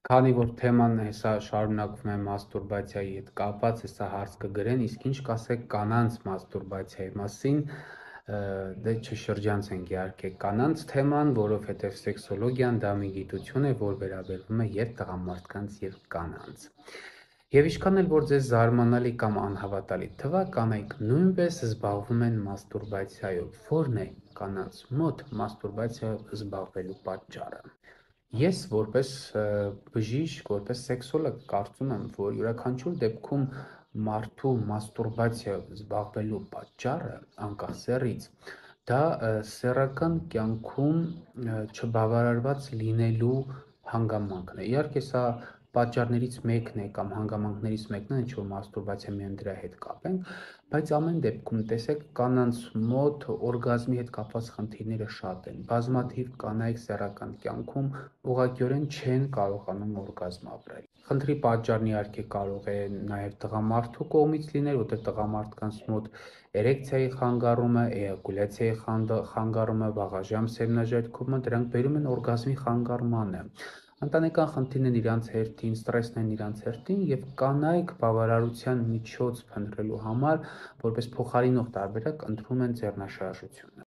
Քանի որ թեման հեսա շարունակվում է մաստուրբացիայի հետ կապված, հեսա հարց կգրեն, իսկ ինչ կասեք կանանց մաստուրբացիայի մասին, դե չշրջանցենք իհարկե կանանց թեման, որովհետև սեքսոլոգիան դա մի գիտություն է, որ վերաբերվում է եւ տղամարդկանց եւ կանանց։ Եվ ինչքան էլ որ ձեզ զարմանալի կամ անհավատալի թվա, կանայք նույնպես զբաղվում են մաստուրբացիայով։ Որն է կանանց մոտ մաստուրբացիայով զբաղվելու պատճառը։ Ես որպես բժիշկ, որպես սեքսոլոգ կարծում եմ, որ յուրաքանչյուր դեպքում մարդու մաստուրբացիայով զբաղվելու պատճառը, անկախ սեռից, դա սեռական կյանքում չբավարարված լինելու հանգամանքն է։ Իհարկե սա պատճառներից մեկն է կամ հանգամանքներից մեկն է, ինչ որ մաստուրբացիա միայն դրա հետ կապենք, բայց ամեն դեպքում տեսեք կանանց մոտ օրգազմի հետ կապված խնդիրները շատ են։ Բազմաթիվ կանայք սեռական կյանքում ուղղակիորեն չեն կարողանում օրգազմ ապրել։ Խնդրի պատճառն իհարկե կարող է նաև տղամարդու կողմից լինել, որտեղ տղամարդկանց մոտ էրեկցիայի խանգարումը, էյակուլյացիայի խանգարումը, վաղաժամ սերմնաժայթքումը դրանք բերում են օրգազմի խանգարմանը։ Ընտանեկան խնդիրներն իրանց հերթին, ստրեսն են իրանց հերթին եւ կանայք բավարարության միջոց փնտրելու համար որպես փոխարինող տարբերակ ընտրում են ձեռնաշարժությունը։